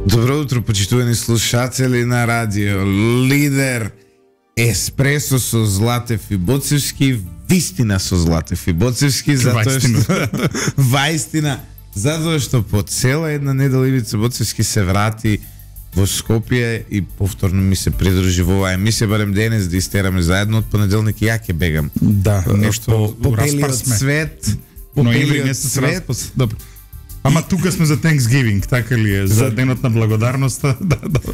Добро утро, почитувани слушатели на радио Лидер. Еспресо со Златев и Боцевски, вистина со Златев и Боцевски, затоа што ваистина, затоа што по цела една недела Ивица Боцевски се врати во Скопје и повторно ми се придружи во оваа емисија, барем денес да истераме заедно. Од понеделник ја ќе бегам. Да, нешто распар сме. Цвет, попелиот цвет. Добро. Ама тука сме за Thanksgiving, така ли е? За денот на благодарноста. Да, добро.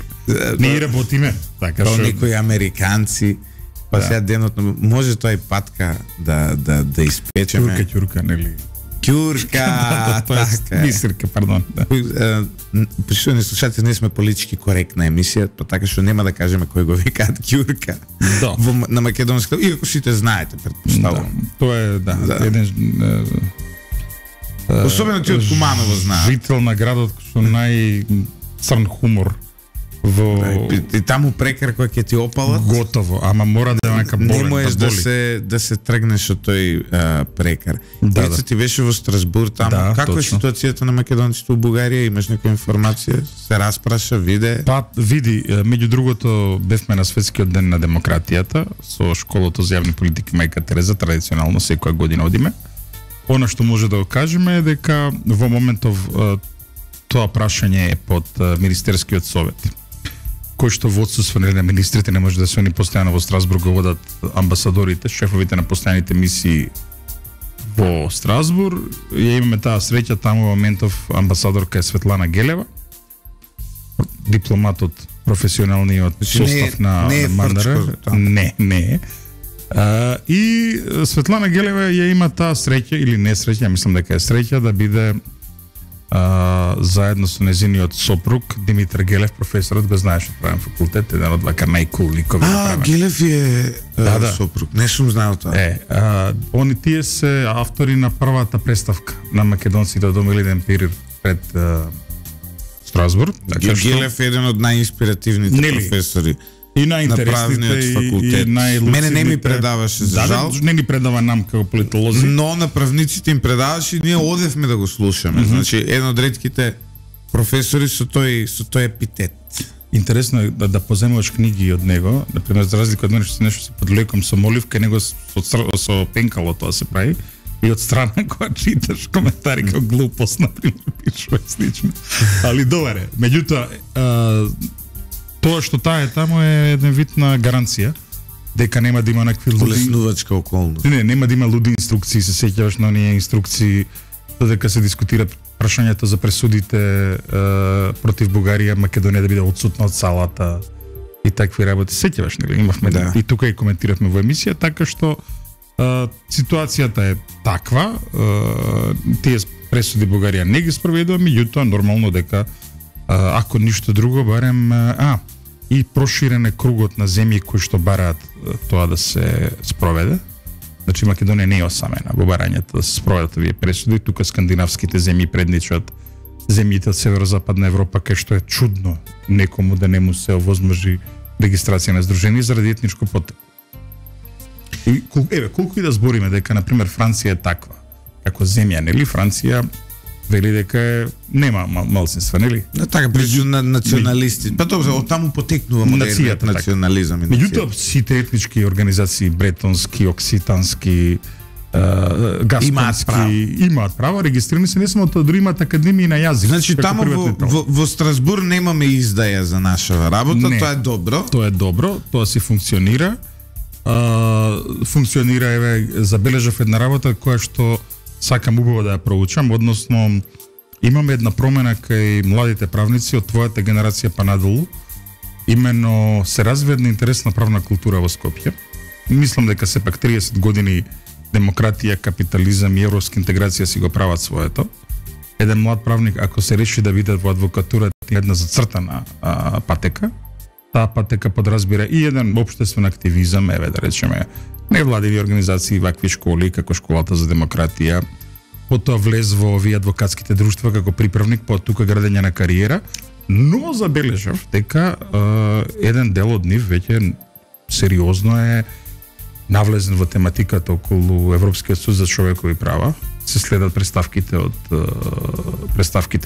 Ние работиме. Така што некои американци, па сега денот на може тоа и патка да испечеме. Ќурка, нели? Ќурка, така. Бисерка, пардон. Почитувани слушатели, ние сме политички коректна емисија, па така што нема да кажеме кој го викаат ќурка. Да. На македонски, иако сите знаете, претпоставувам. Тоа е, еден особено ти од Куманово знаат. Жител на градот со најцрн хумор во и таму прекар кој ќе ти опалат. Готово, ама мора да е нека болен. Не можеш да се тргнеш од тој прекар. Да. Ти беше во Страсбург таму. Да, како е ситуацијата на македонците во Бугарија? Имаш некоја информација? Се распраша, виде? Па види, меѓу другото бевме на светскиот ден на демократијата со школото за јавни политики Мајка Тереза, традиционално секоја година одиме. Она што може да го кажеме е дека во моментов тоа прашање е под Министерскиот совет, кој што во отсуство на министрите не може да се они постојано во Страсбург го водат амбасадорите, шефовите на постојаните мисии во Страсбург. Ја имаме таа среќа, таму во моментов амбасадорка е Светлана Гелева, дипломат од професионалниот состав на Мандар. Не. И Светлана Гелева ја има таа среќа или не среќа, мислам дека е среќа да биде заедно со незиниот сопруг Димитар Гелев, професорот, го знаеш од правен факултет, еден од вака најкул ликови. Гелев е сопруг. Не сум знаел тоа. Они тие се автори на првата представка на македонците од Омилиден Пирир пред Страсбург. Гелев е еден од најинспиративните професори. И најинтересните факултет. Мене не ми предаваше, за жал. Не ни предава нам како политолози. Но на правниците им предаваше и ние одевме да го слушаме. Значи, еден од ретките професори со тој епитет. Интересно е да поземуваш книги од него, например, за разлика од мене што нешто се подлеком со моливка, него со пенкало тоа се прави. И од страна кога читаш коментари како глупост, например, пишува слично. Али добре, меѓутоа тоа што таа е таму е еден вид на гаранција дека нема да има некакви улеснувачка околност. Нема да има луди инструкции, се сеќаваш на оние инструкции додека се дискутираат прашањата за пресудите против Бугарија, Македонија да биде отсутна од салата и такви работи. Сеќаваш, нели? Имавме и тука и коментиравме во емисија, така што ситуацијата е таква, тие пресуди Бугарија не ги спроведува, меѓутоа нормално дека ако ништо друго, барем и проширен е кругот на земји кои што бараат тоа да се спроведе. Значи Македонија не е осамена во барањето да се спроведат овие пресуди. Тука скандинавските земји предничат земјите од северозападна Европа, кај што е чудно некому да не му се овозможи регистрација на здружение заради етничко потреба. И колку и да збориме дека на пример Франција е таква како земја, нели? Франција вели дека нема малцинства, нели? Така, причу на националисти. Па тоа, од таму потекнува модерниот национализам. Меѓутоа, сите етнички организации, бретонски, окситански, гасконски, имаат право, регистрирани се не само тоа, дури имаат академии на јазик. Значи, таму во Страсбург немаме издаја за нашава работа, тоа е добро. Тоа е добро, тоа си функционира. Функционира, забележав една работа која што сакам убаво да ја проучам, односно имаме една промена кај младите правници од твојата генерација па надолу. Имено се развива една интересна правна култура во Скопје. Мислам дека сепак 30 години демократија, капитализам и европска интеграција си го прават своето. Еден млад правник, ако се реши да биде во адвокатура, една зацртана патека, таа патека подразбира и еден општествен активизам, да речеме, невладиви организации, вакви школи, како Школата за демократија, потоа влез во овие адвокатските друштва како приправник, тука градење на кариера, но забележав дека еден дел од нив веќе сериозно е навлезен во тематиката околу Европскиот суд за човекови права. Се следат представките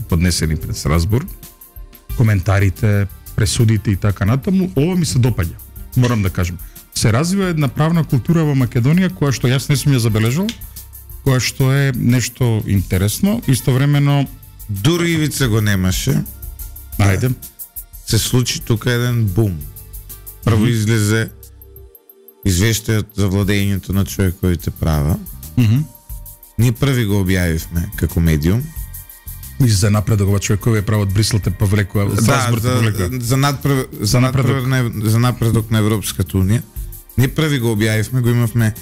поднесени пред Страсбург. коментарите, пресудите и така натаму, ова ми се допаѓа. Морам да кажам. Се развива една правна култура во Македонија која што јас не сум ја забележал, која што е нешто интересно, истовремено дури Ивица го немаше. Ајде. Се случи тука еден бум. Прво излезе извештајот за владењето на човековите права. Ние први го објавивме како медиум. И за напредок ова човекови права од Брисел те повлекува, за напредок на Европската унија. Ние први го објавивме, го имавме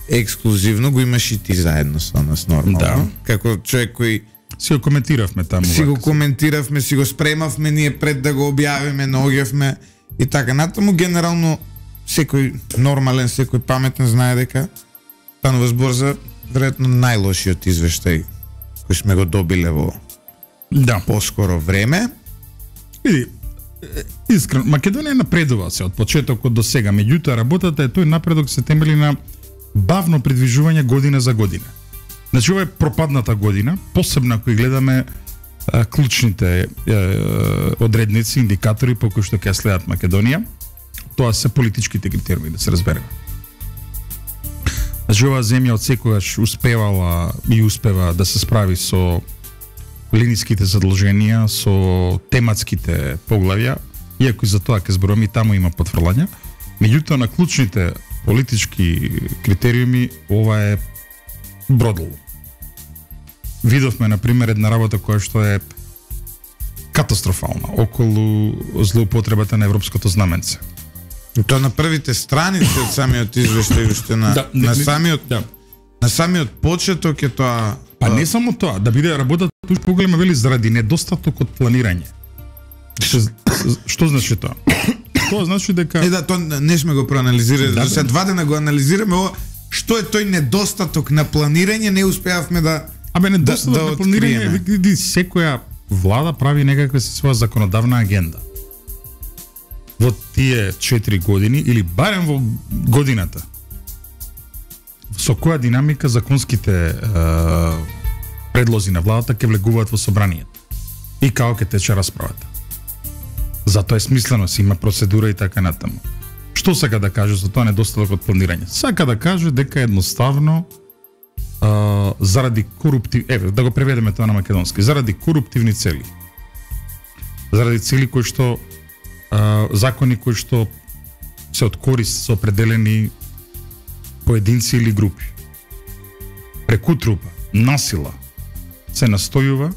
ексклузивно, го имаш и ти заедно со нас нормално. Да. Како човек кој си го коментиравме таму. Си го коментиравме, си го спремавме ние пред да го објавиме, наоѓавме и така натаму. Генерално секој нормален, секој паметен знае дека станува збор за веројатно најлошиот извештај кој сме го добиле во поскоро време. Види, искрено, Македонија напредува се од почетокот до сега, меѓутоа работата е тој напредок се темели на бавно придвижување година за година. Значи, ова е пропадната година, посебно кои гледаме клучните одредници, индикатори по кои што ќе следат Македонија, тоа се политичките критериуми, да се разбереме. Значи, оваа земја од секогаш успевала и успева да се справи со линиските задолженија, со тематските поглавја, иако и за тоа ќе зборуваме, и таму има потврлања. Меѓутоа, на клучните политички критериуми, ова е бродало. Видовме, например, една работа која што е катастрофална околу злоупотребата на европското знаменце. Тоа на првите страници од самиот извештај уште на самиот почеток е тоа. Па не само тоа, да биде работата туж поголема, вели, заради недостаток од планирање. Што значи тоа? Тоа значи дека тоа не сме го проанализирали, за се 2 дена го анализираме ова, што е тој недостаток на планирање, не успеавме да недостаток на планирање, види, секоја влада прави некаква своја законодавна агенда. Во тие 4 години, или барем во годината, со која динамика законските предлози на владата ќе влегуваат во собранието и како ќе тече расправата. Затоа е смислено, си има процедура и така натаму. Што сака да каже за тоа недостаток од планирање? Сака да каже дека едноставно заради да го преведеме тоа на македонски, заради коруптивни цели. Заради цели кои што закони кои што се од корист со определени поединци или групи. Преку трупа, насила се настојува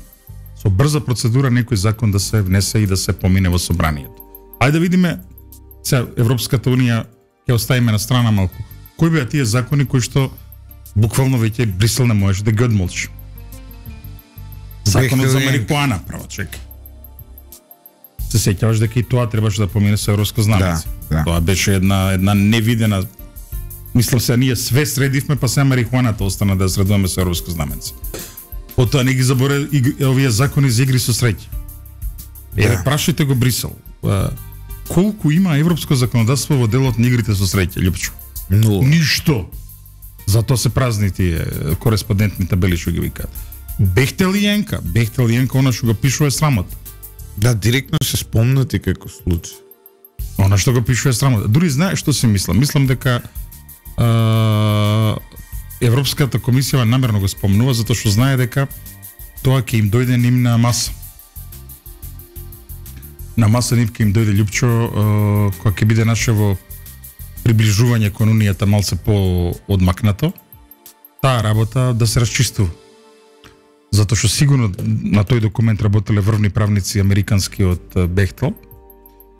со брза процедура некој закон да се внесе и да се помине во собранието. Ајде да видиме, сега Европската унија ќе оставиме на страна малку. Кои беа тие закони кои што буквално веќе Брисел не можеше да ги одмолчи? Законот за марихуана, право чек. Се сеќаваш дека и тоа требаше да помине со европско знамеце. Да. Тоа беше една невидена. Мислам се, ние све средивме, па сега марихуаната остана да средуваме со европско знаменце. Потоа не ги заборе овие закони за игри со среќа. Еве, прашајте го Брисел. Колку има европско законодавство во делот на игрите со среќа, Љупчо? Ништо. Затоа се празни тие кореспондентни табели што ги викаат. Бехте ли Јенка, она што го пишува срамота. Да, директно се спомнати како случај. Она што го пишува срамота. Дури знаеш што си мислам? Мислам дека Европската комисија намерно го спомнува затоа што знае дека тоа ќе им дојде ним на маса. На маса нив ќе им дојде, Љупчо, кога ќе биде нашево приближување кон унијата малце по-одмакнато, таа работа да се расчистува. Затоа што сигурно на тој документ работеле врвни правници американски од Бехтел.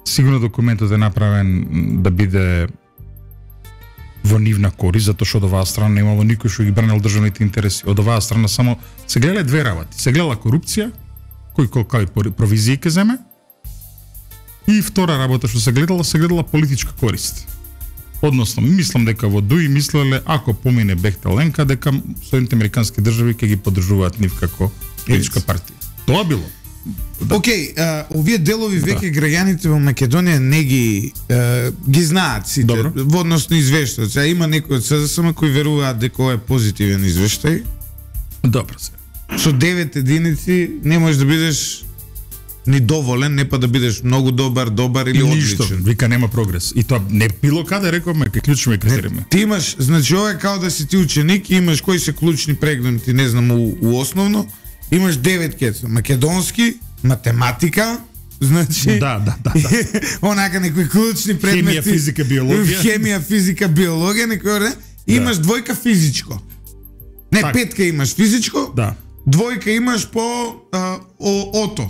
Сигурно документот е направен да биде во нивна корист, затоа што од оваа страна немало никој што ги бранел државните интереси. Од оваа страна само се гледале две работи. Се гледала корупција, кој колкави провизии ќе земе, и втора работа што се гледала политичка корист. Односно, мислам дека во Дуи мислеле, ако помине Бехтеленка, дека Соединените американски држави ќе ги поддржуваат нив како политичка партија. Тоа било. Океј, овие делови веќе граѓаните во Македонија не ги знаат сите. Добро. Во однос на извештајот. Сега има некои од СДСМ кои веруваат дека ова е позитивен извештај. Добро се. Со 9 единици не можеш да бидеш ни доволен, не па да бидеш многу добар или Ништо, одличен. вика нема прогрес. И тоа не било каде рековме, кај клучни критериуми. Ти имаш, значи ова е као да си ти ученик и имаш кои се клучни предмети, не знам, у основно, имаш 9 кеца, македонски, математика, значи Да. онака некои клучни предмети, Хемија, физика, биологија. Хемија, физика, биологија, некој имаш двојка физичко. Не, Так. петка имаш физичко. Да. Двојка имаш по ото.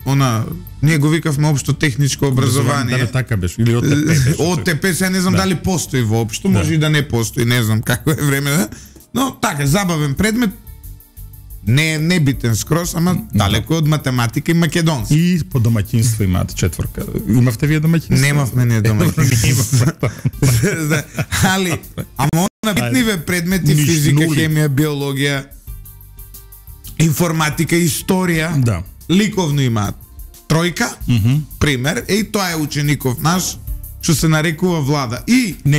Она, ние го викавме општо техничко образование. Да, така беше. Или ОТП беше. ОТП, сега не знам дали постои воопшто, може и да не постои, не знам како е време, да. Но така, забавен предмет, не битен скрос, ама далеко од математика и македонски. И по домаќинство имаат четворка. Имавте вие домаќинство? Немавме ние домаќинство. Али, ама на битниве предмети, Ништо, физика, нули. хемија, биологија, информатика, историја, Да. ликовно имаат тројка, пример, и тоа е учеников наш, што се нарекува Влада. И Не,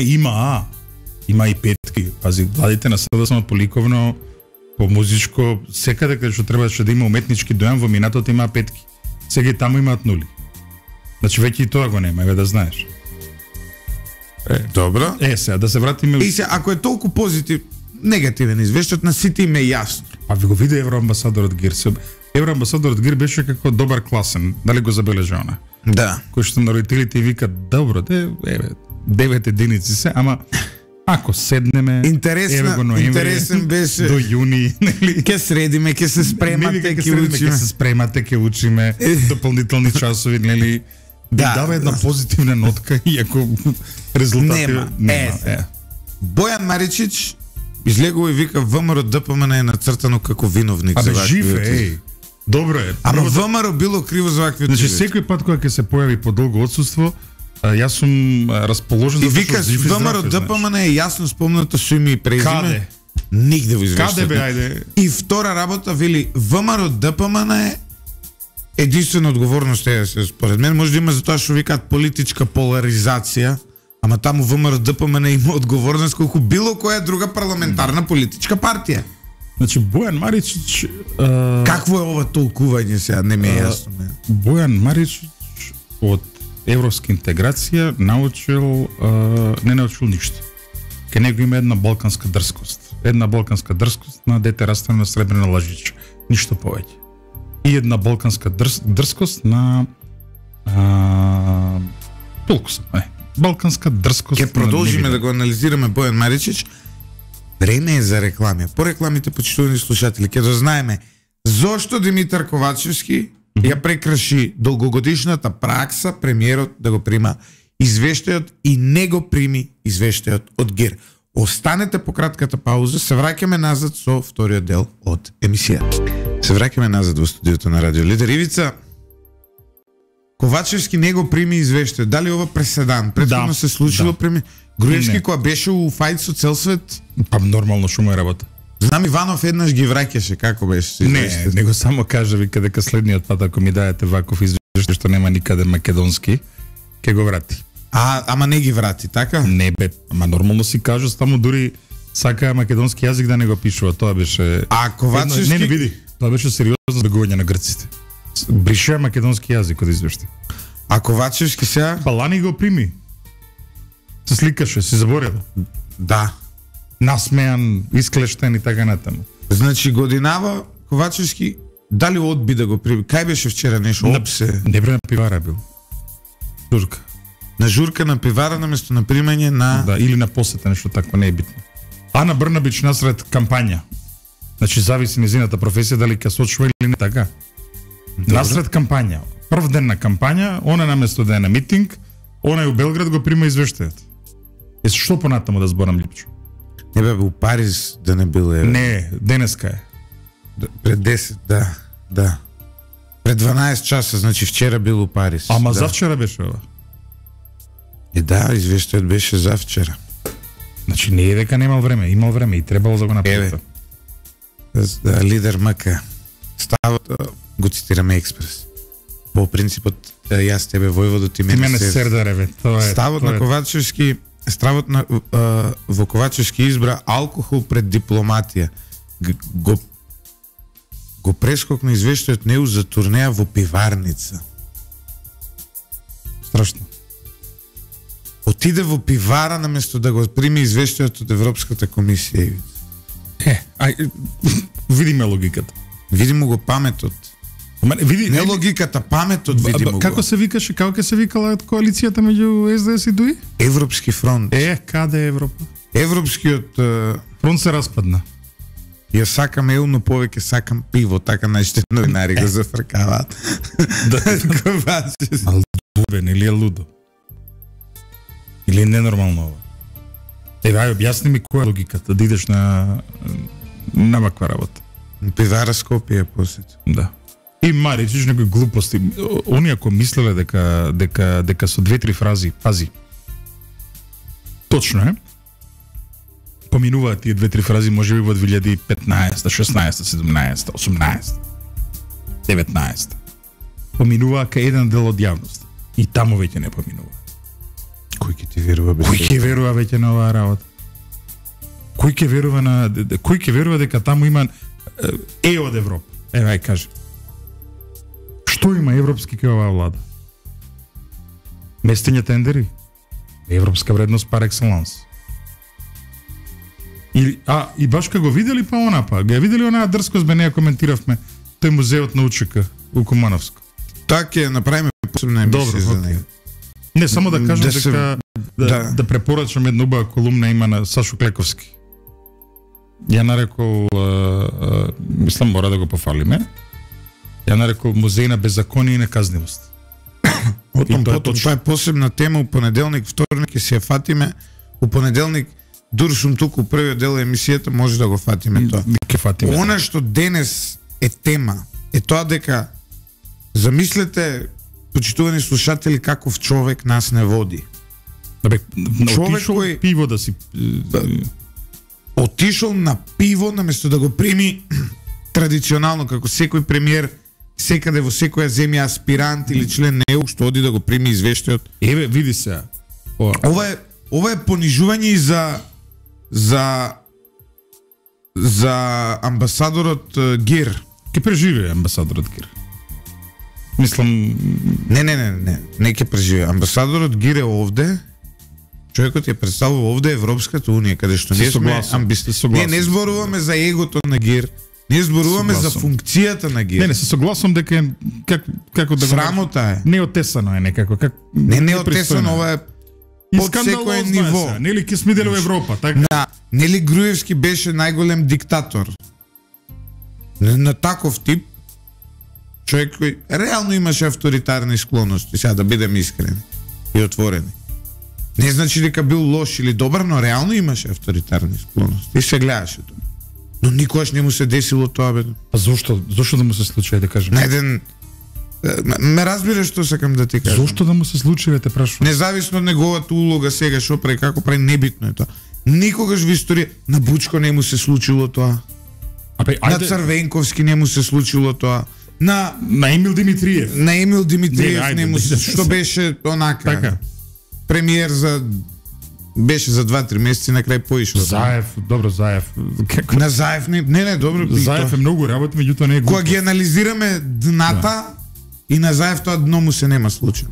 има и петки. Пази, владите на СДСМ по ликовно, по музичко, секаде каде што требаше да има уметнички дојам во минатото има петки. Сега и таму имаат нули. Значи веќе и тоа го нема, еве да знаеш. добро. Сега да се вратиме. И се, ако е толку позитив, негативен извештајот на сите им е јасно. А ви го виде евроамбасадорот Гир. Евроамбасадорот Гир беше како добар класен. Дали го забележа она? Да. Кој што на родителите викат, добро, еве, 9 единици се, ама ако седнеме, еве го ноември, интересен беше. до јуни, нели? Ке средиме, ке се спремате, Ке ке учиме. се спремате, ке учиме дополнителни часови, нели? Да, Дава една да. позитивна нотка, иако резултати Нема. Бојан Маричич излегува и вика ВМРО ДПМН е нацртано како виновник за Абе, вакви жив отиски. е, добро е. Ама Прво да- ВМРО било криво за вакви Значи, отиски. секој пат кога ќе се појави по долго отсуство, јас сум расположен И затоа што викаш, жив и здрав ВМРО е, знаеш. ДПМН е јасно спомнато со име и презиме. Каде? Нигде во извештајот. Каде бе, ајде? И втора работа вели ВМРО ДПМН е единствена одговорност е, според мен, може да има затоа што викаат политичка поларизација, ама таму ВМРО ДПМН има одговорност колку било која друга парламентарна политичка партија. Значи, Бојан Маричич... Какво е ова толкување сега, не ми е јасно. Бојан Маричич од европска интеграција не научил ништо. Ке него има една балканска дрскост. Една балканска дрскост на дете растане на сребрена лажича. Ништо повеќе. И една балканска дрскост на... толку сам, балканска дрскост. Ке продолжиме да го анализираме Бојан Маричич. Време е за реклами. По рекламите, почитувани слушатели, ќе дознаеме зошто Димитар Ковачевски ја прекраши долгогодишната пракса премиерот да го прима извештајот и не го прими извештајот од ГИР. Останете по кратката пауза, се враќаме назад со вториот дел од емисијата. Се враќаме назад во студиото на Радио Лидер. Ивица, Ковачевски не го прими извештајот. Дали ова преседан? Претходно се случило преми... Груевски кога беше у фајт со цел свет? Па нормално што му е работа. Знам Иванов еднаш ги враќаше, како беше? Не, него само кажа вика дека следниот пат ако ми даете ваков извештај што нема никаде македонски, ќе го врати. Ама не ги врати, така? Не бе, ама нормално си кажа, само дури сака македонски јазик да не го пишува, тоа беше... А Ковачевски... Не види, тоа беше сериозно збегување на грците. Брише македонски јазик од извештај. А Ковачевски сега... Палани го прими. Се сликаше, си заборава. Да. Насмеан, исклештен и така натаму. Значи годинава Ковачевски дали одби да го прими? Кај беше вчера нешто? Опсе. Не бре на пивара бил. Журка. На журка на пивара наместо на примање на... Да, или на посета, нешто такво, не е битно. Ана Брнабич насред кампања. Значи зависи незината професија дали ќе сочува или не така. Насред кампања. Прв ден на кампања, она наместо да е на митинг, она е у Белград го прима извештајот. Што понатаму да зборам липчо? Не бе, у Париз да не било. Не, денеска е. Пред 10, да. Пред 12 часа, значи вчера бил у Париз. Ама да. завчера беше ова. Да, извештајот беше за вчера. Значи не е дека немал време, имал време и требало да го направи. Да, лидер МК. Ставот, го цитираме Експрес. По принципот, јас тебе војводо, ти мене сердареве. Ставот на Ковачевски, стравот на во Ковачевски избра алкохол пред дипломатија. го прескокна извештајот неу за турнеја во пиварница. Страшно. Отиде во пивара наместо да го прими извештајот од Европската комисија. Видиме логиката. Видимо го паметот. Види, не логиката, паметот видимо го. Како се викаше, како се викала коалицијата меѓу СДС и ДУИ? Европски фронт. Каде е Европа? Европскиот фронт се распадна. Ја сакам еу, но повеќе сакам пиво, така најште новинари го зафркаваат. Малдубен или е лудо? Или е ненормално ова? Ај, објасни ми која е логиката, да идеш на ваква работа. Пивара Скопје посет. Да. И мари, чуш некои глупости. Оние ако мислеле дека со 2-3 фрази, пази. Точно е. Поминуваат тие 2-3 фрази можеби во 2015, 16, 17, 18, 19. Поминуваа кај еден дел од јавност. И таму веќе не поминува. Кој ќе ти верува без? Кој ќе верува веќе на оваа работа? Кој ќе верува дека таму има од Европа? Ај кажи. Што има европски кај оваа влада? Местење тендери? Европска вредност пар екселанс. И баш кога го видели па онапа, ја видели онаа дрскост, бе неја коментиравме, тој музеот на УЧК у Кумановско. Така ќе направиме посебна емисија за него. Не, само да кажам дека да препорачам една убава колумна има на Сашо Клековски. Ја нарекол, мислам мора да го пофалиме, ја нарекол музеј на беззаконие и неказнивост. Тоа е посебна тема, у понеделник, вторник ќе се ја фатиме, у понеделник дури сум туку првиот дел емисијата, може да го фатиме тоа. Она што денес е тема, е тоа дека замислете, почитувани слушатели, каков човек нас не води. Човек кој пиво да си отишол на пиво наместо да го прими традиционално како секој премиер секаде во секоја земја аспирант или член на ЕУ што оди да го прими извештајот. Еве, види се. Ова е понижување и за амбасадорот Гир. Ке преживее амбасадорот Гир. Мислам... Не ке преживее. Амбасадорот Гир е овде. Човекот ја представува овде Европската унија, каде што ние сме Ние не зборуваме за егото на Гир. Ние зборуваме за функцијата на Гир. Не се согласувам дека како да срамота е. Неотесано е некако. Не отесано, ова е под секој ниво. Нели ке сме дел во Европа, така? Да, нели Груевски беше најголем диктатор. На таков тип човек кој реално имаше авторитарни склонности, сега да бидем искрени и отворени. Не значи дека бил лош или добар, но реално имаше авторитарни склонности и се гледаше тоа. Но никогаш не му се десило тоа, бе. А зошто? Зошто да му се случи, да кажем? На еден... Ме разбираш што сакам да ти кажам. Зошто да му се случи, те прашувам? Независно од неговата улога сега, што прави, како прави, небитно е тоа. Никогаш во историја на Бучко не му се случило тоа. На Црвенковски не му се случило тоа. На Емил Димитриев. На Емил Димитриев не му се... Што беше онака. Така. Премиер беше за 2-3 месеци, на крај поишол. Заев, добро, Заев. На Заев не, добро. Заев е многу работи, меѓутоа не е кога ги анализираме дната и на Заев тоа дно му се нема случај.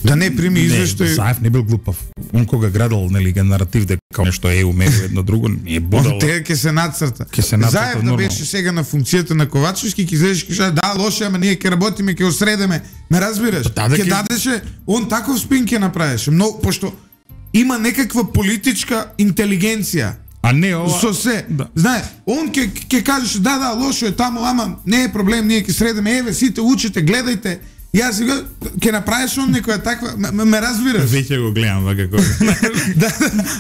Да не прими извештај. Заев не бил глупав. Он кога градал, нели, наратив дека нешто е умеро едно друго, не е будало. Тега ќе се нацрта. Заев да беше сега на функцијата на Ковачевски, ќе излезеш и кажеш да, лошо, ама ние ќе работиме, ќе осредеме. Ме разбираш? Ќе дадеше, он таков спин ќе направеше. Многу, пошто има некаква политичка интелигенција. А не ова. Со се. Да. Знае, он ќе кажеше да, лошо е таму, ама не е проблем, ние ќе средеме. Еве, сите учите, гледајте. Јас сега ќе направиш он некоја таква, ме разбираш? Веќе го гледам како.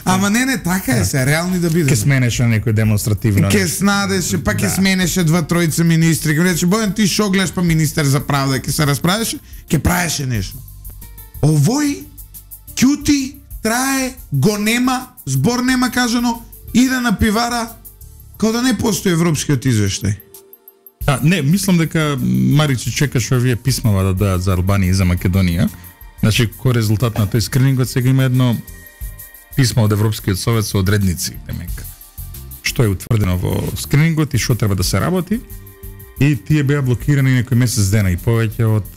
Ама не, така е се, реални да бидеме. Ќе сменеше некој демонстративно. Ќе снадеше, па ќе сменеше 2-3 министри. Ќе рече, Бојан, ти шо гледаш, па министер за правда, ќе се расправеше, ќе правеше нешто. Овој ќути, трае, го нема, збор нема кажано, иде на пивара, као да не постои европскиот извештај. Не, мислам дека Маричи чекаше овие писмава да дојат за Албанија и за Македонија. Значи, кој резултат на тој скринингот, сега има едно писмо од Европскиот совет со одредници, демек. Што е утврдено во скринингот и што треба да се работи. И тие беа блокирани некој месец дена и повеќе од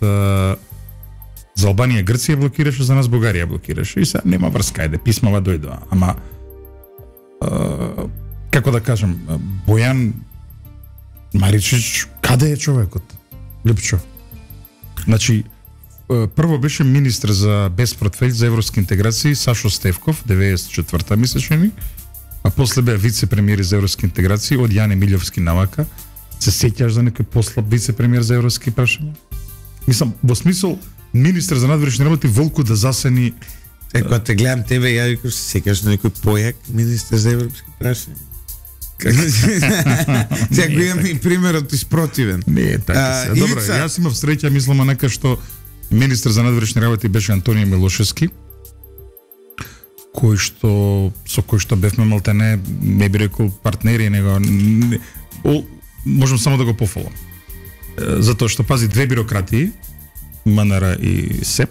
за Албанија Грција блокираше, за нас Бугарија блокираше. И сега нема врска, ајде писмава дојдоа. Ама како да кажам, Бојан Маричич, каде е човекот? Липчо. Значи, прво беше министр за без портфељ за европски интеграции Сашо Стевков, 94-та мислечени, а после беа вице-премиер за европски интеграции од Јане Милјовски навака. Се сеќаш за некој послаб вице-премиер за европски прашања? Мислам, во смисол, министр за надворешни работи Волку да засени... Кога те гледам тебе, ја викаш, се сеќаш на некој појак министр за европски прашања? Сега го имам и примерот испротивен. Не, така се. Добро, јас имав среќа, мислам, нека што министр за надворешни работи беше Антонио Милошевски, со кој што бевме малтене, не би рекол партнери, него можам само да го пофалам. Затоа што пази две бирократии, МНР и СЕП,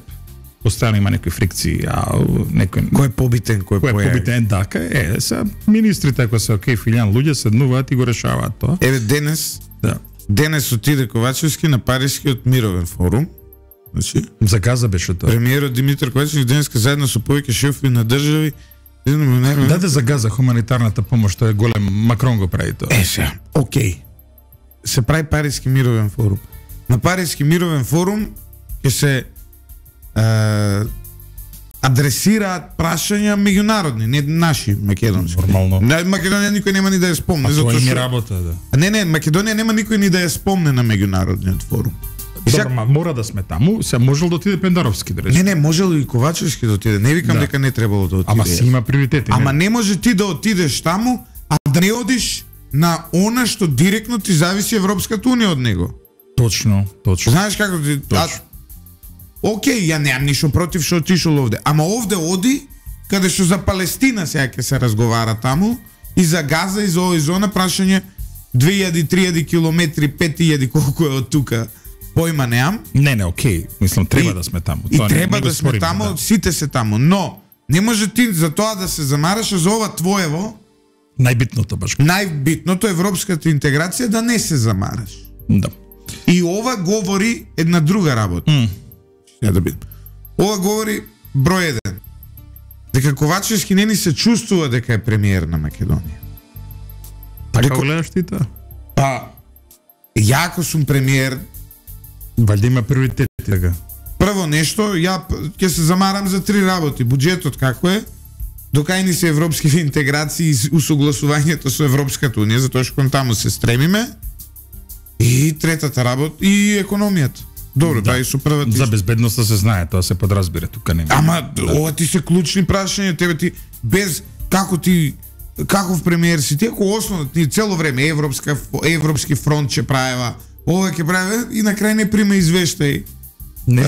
постојано има некои фрикции, а некој кој е побитен, кој е побитен, така е. Се министрите ако се окей, филијан луѓе седнуваат и го решаваат тоа. Еве денес отиде Ковачевски на Парискиот мировен форум. Значи, за Газа беше тоа. Премиерот Димитар Ковачевски денеска заедно со повеќе шефови на држави даде за Газа хуманитарната помош, тоа е голем, Макрон го прави тоа. Сега, окей. Се прави Париски мировен форум. На Париски мировен форум ќе се адресираат прашања меѓународни, не наши, македонски. Нормално. Македонија никој нема ни да ја спомне, затоа што работа, да. Не, Македонија нема никој ни да ја спомне на меѓународниот форум. Добро, мора да сме таму, се можел да отиде Пендаровски, да рече. Не, можел и Ковачевски да отиде. Не викам дека не требало да отиде. Ама си има приоритети. Ама не може ти да отидеш таму, а да не одиш на она што директно ти зависи Европската унија од него. Точно. Знаеш како ти... Океј, ја немам ништо против што отишол овде. Ама овде оди, каде што за Палестина сега ќе се разговара таму, и за Газа, и за овој зона, прашање 2000-3000 километри, 5000 колку е од тука. Појма неам. Не, окей. Мислам, треба да сме таму. И треба да сме таму, сите се таму. Но, не може ти за тоа да се замараш за ова твоево. Најбитното, баш. Најбитното, европската интеграција, да не се замараш. Да. И ова говори една друга работа. Ова говори број 1. Дека Ковачевски не ни се чувствува дека е премиер на Македонија. Така гледаш ти тоа? Па, ја ако сум премиер, валјда има приоритети, така. Прво нешто, ја ќе се замарам за 3 работи. Буџетот како е, докај ни се европски интеграции и усогласувањето со Европската унија, затоа што кон таму се стремиме. И третата работа, и економијата. Добро, да, и со првата. За безбедноста се знае, тоа се подразбира, тука нема. Ама, ова ти се клучни прашања, тебе ти без каков премиер си ти, ако основно ни цело време европски фронт ќе правева, ова ќе правева и на крај не прима извештај. Не.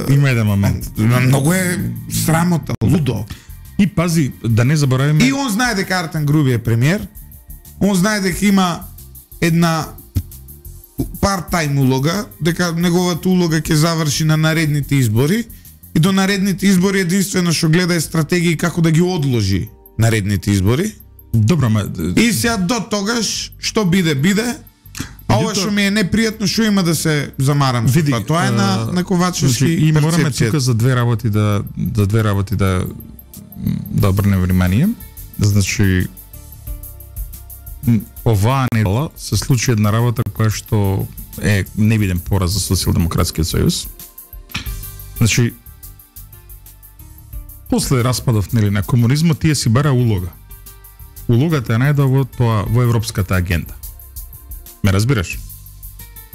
Има еден момент. Многу е срамота, лудо. И пази, да не заборавиме. И он знае дека Артан Груби е премиер. Он знае дека има една part-time улога, дека неговата улога ќе заврши на наредните избори и до наредните избори единствено што гледа е стратегија како да ги одложи наредните избори. Добро, ма... И сега до тогаш, што биде, а ова што ми е непријатно, што има да се замарам со тоа. Тоа е на Ковачевски и мораме тука за две работи да обрнеме внимание. Значи, оваа недела се случи една работа која што е невиден пораз за Социјалдемократскиот сојуз. Значи, после распадов на комунизмот тие си бара улога. Улогата е најдова во европската агенда. Ме разбираш?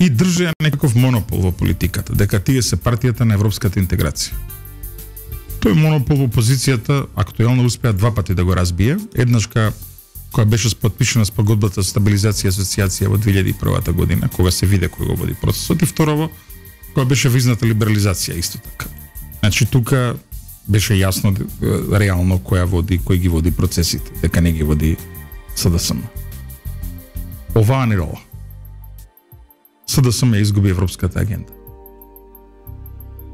И држи некаков монопол во политиката, дека тие се партијата на европската интеграција. Тој монопол во опозицијата актуелно успеа 2 пати да го разбие. Еднаш која беше подпишана спогодбата за стабилизација и асоциација во 2001 година, кога се виде кој го води процесот, и второво, која беше визната либерализација исто така. Значи тука беше јасно реално кој ги води процесите, дека не ги води СДСМ. Оваа недела СДСМ изгуби европската агенда.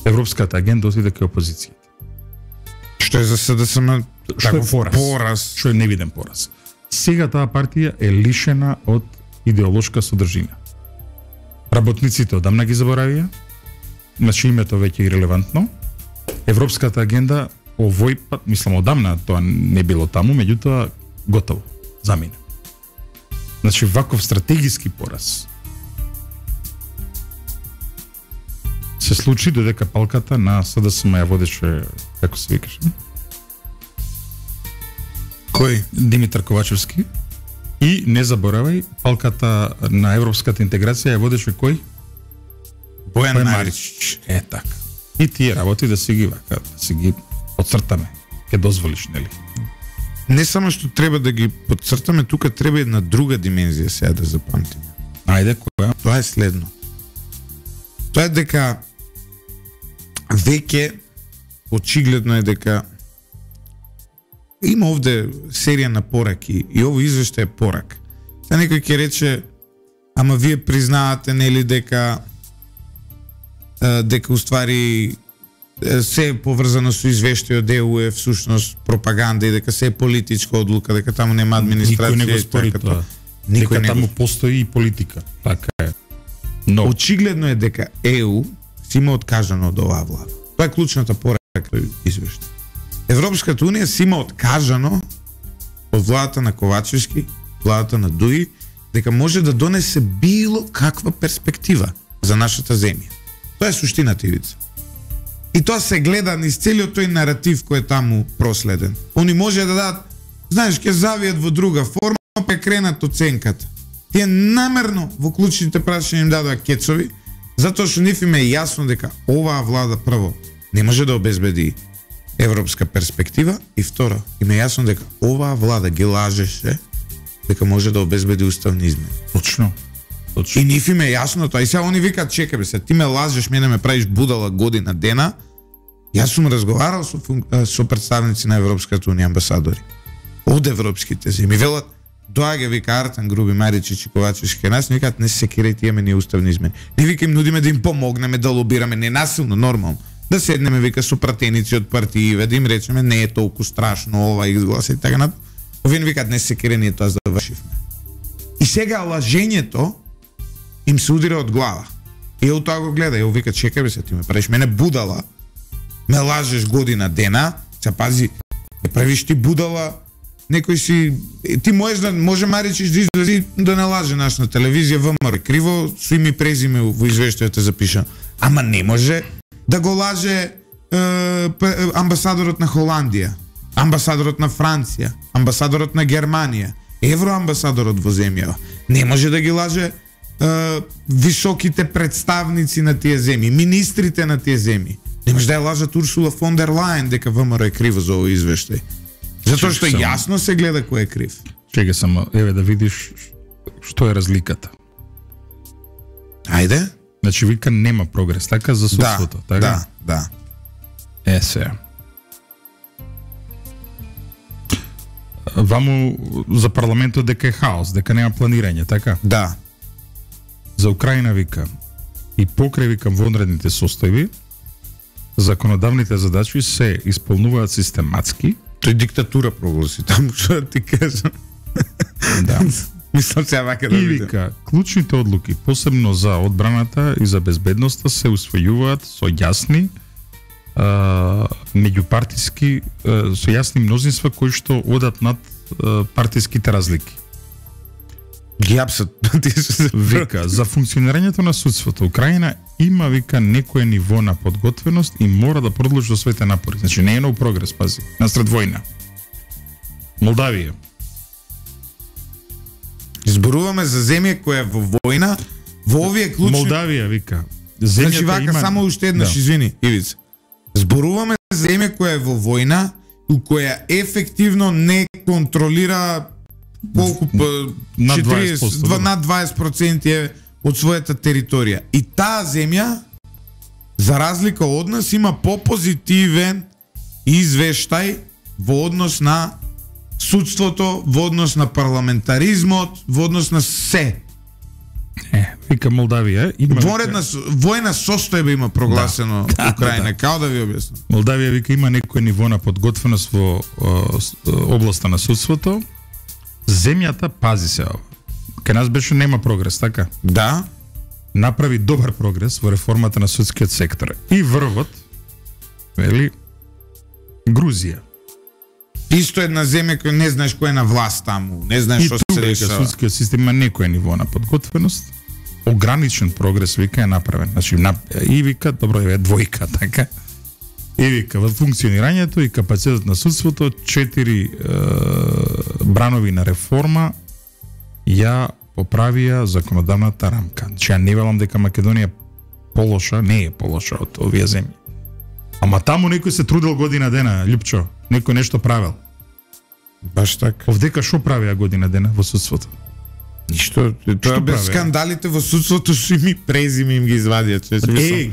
Европската агенда отиде кај опозицијата. Што е за СДСМ? Што е пораз? Што е невиден пораз. Сега таа партија е лишена од идеолошка содржина. Работниците одамна ги заборавија, значи името веќе е ирелевантно. Европската агенда овој пат, мислам одамна тоа не било таму, меѓутоа готово, замина. Значи ваков стратегиски пораз се случи додека палката на СДСМ ја водеше, како се викаше? Кој? Димитар Ковачевски. И не заборавај, палката на европската интеграција ја водеше кој? Бојан Маричич. Така. И тие работи да си ги вака, да си ги подцртаме. Ке дозволиш, нели? Не само што треба да ги подцртаме, тука треба една друга димензија сега да запамтиме. Ајде, која? Тоа е следно. Тоа е дека веќе очигледно е дека има овде серија на пораки и ово извештај е порак. Сега некој ќе рече, ама вие признавате нели дека уствари се е поврзано со извештајот ЕУ е всушност пропаганда и дека се е политичка одлука, дека таму нема администрација. Никој не го спори тоа. Дека таму постои и политика. Така е. Но очигледно е дека ЕУ си има откажано од оваа влада. Тоа е клучната порака извештај. Европската унија си има откажано од владата на Ковачевски, владата на Дуи, дека може да донесе било каква перспектива за нашата земја. Тоа е суштината, Ивица. И тоа се гледа низ целиот тој наратив кој е таму проследен. Они може да дадат, знаеш, ќе завијат во друга форма, па е кренат оценката. Тие намерно во клучните прашања им дадоа кецови, затоа што нив им е јасно дека оваа влада прво не може да обезбеди европска перспектива и второ, им е јасно дека оваа влада ги лажеше дека може да обезбеди уставни измени. Точно. И нив им е јасно тоа. И сега они викаат, чекај бе, ти ме лажеш, мене ме правиш будала година дена. Јас сум разговарал со представници на Европската унија, амбасадори од европските земји. Велат, доаѓа вика Артан Груби, Маричич и Ковачевски нас, не викаат, не се секирајте, имаме ние уставни измени. Не вика им нудиме да им помогнеме, да лобираме, ненасилно, нормално. Да седнеме, вика, со пратеници од партииве, да им речеме, не е толку страшно ова и гласа и така на. Овие викаат, не се секира, ние тоа завршивме. И сега лажењето им се удира од глава. И од тоа го гледа, и вика, чекај бе се, ти ме правиш мене будала, ме лажеш година дена, се пази, ме правиш ти будала, некој си, ти може Маричич да излези да не лаже наш на телевизија, ВМРО криво, со име и презиме во извештајот запишано. Ама не може да го лаже амбасадорот на Холандија, амбасадорот на Франција, амбасадорот на Германија, евроамбасадорот во земјава. Не може да ги лаже високите представници на тие земји, министрите на тие земји. Не може да ја лажат Урсула фон дер Лајен дека ВМРО е криво за овој извештај. Затоа што јасно се гледа кој е крив. Чекај само, еве да видиш што е разликата. Ајде. Значи вика нема прогрес, така за судството, така? Да. Се. Ваму за парламентот дека е хаос, дека нема планирање, така? Да. За Украина вика и покрај вика вонредните состојби, законодавните задачи се исполнуваат систематски. Тој диктатура прогласи таму, што ти кажам. Да. Мислам се вака да видам. И вика, клучните одлуки, посебно за одбраната и за безбедноста, се усвојуваат со јасни меѓупартиски, со јасни мнозинства кои што одат над партиските разлики. Ги апсат. Вика, за функционирањето на судството Украина има, вика, некое ниво на подготвеност и мора да продолжи со своите напори. Значи не е нов прогрес, пази, насред војна. Молдавија. Изборуваме за земја која е во војна, во овие клучни... Молдавија, вика. Значи вака, има... само уште еднаш, извини, Ивица. Зборуваме за земја која е во војна, која ефективно не контролира колку над 20%, над 20% е од својата територија. И таа земја, за разлика од нас, има попозитивен извештај во однос на судството, во однос на парламентаризмот, во однос на се. Вика Молдавија има војна состојба има прогласено Украина, као да ви објаснам. Молдавија вика има некој ниво на подготвеност во областа на судството. Земјата, пази се ова. Кај нас беше нема прогрес, така? Да. направи добар прогрес во реформата на судскиот сектор. И врвот, вели, Грузија. Исто една земја која не знаеш кој е на власт таму, не знаеш што се дешава. И судскиот систем има некој ниво на подготвеност, ограничен прогрес вика е направен. Значи и вика, добро е двојка, така. И вика во функционирањето и капацитет на судството 4 бранови на реформа ја поправија законодавната рамка. Значи ја не велам дека Македонија полоша, не е полоша од овие земји. Ама таму некој се трудел година дена, Љупчо, некој нешто правел. Баш така. Овдека што правиа година дена во судството? Ништо, тоа без скандалите во судството што ми презиме им ги извадија.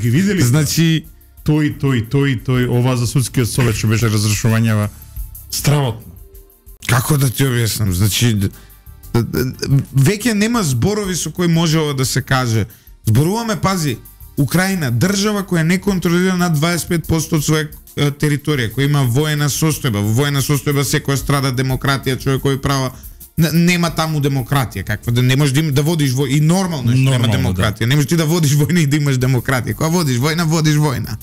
Ги видели? Значи тој, ова за судскиот совет што беше разрешувањава стравотно. Како да ти објаснам? Значи веќе нема зборови со кои може ова да се каже. Зборуваме, пази, Украина, држава која не контролира над 25% од своја територија, која има воена состојба. Во воена состојба секоја страда демократија, човекови права. Нема таму демократија, каква да не можеш да водиш војна и нормално нема демократија. Да. Не можеш ти да водиш војна и да имаш демократија. Кога водиш војна, водиш војна.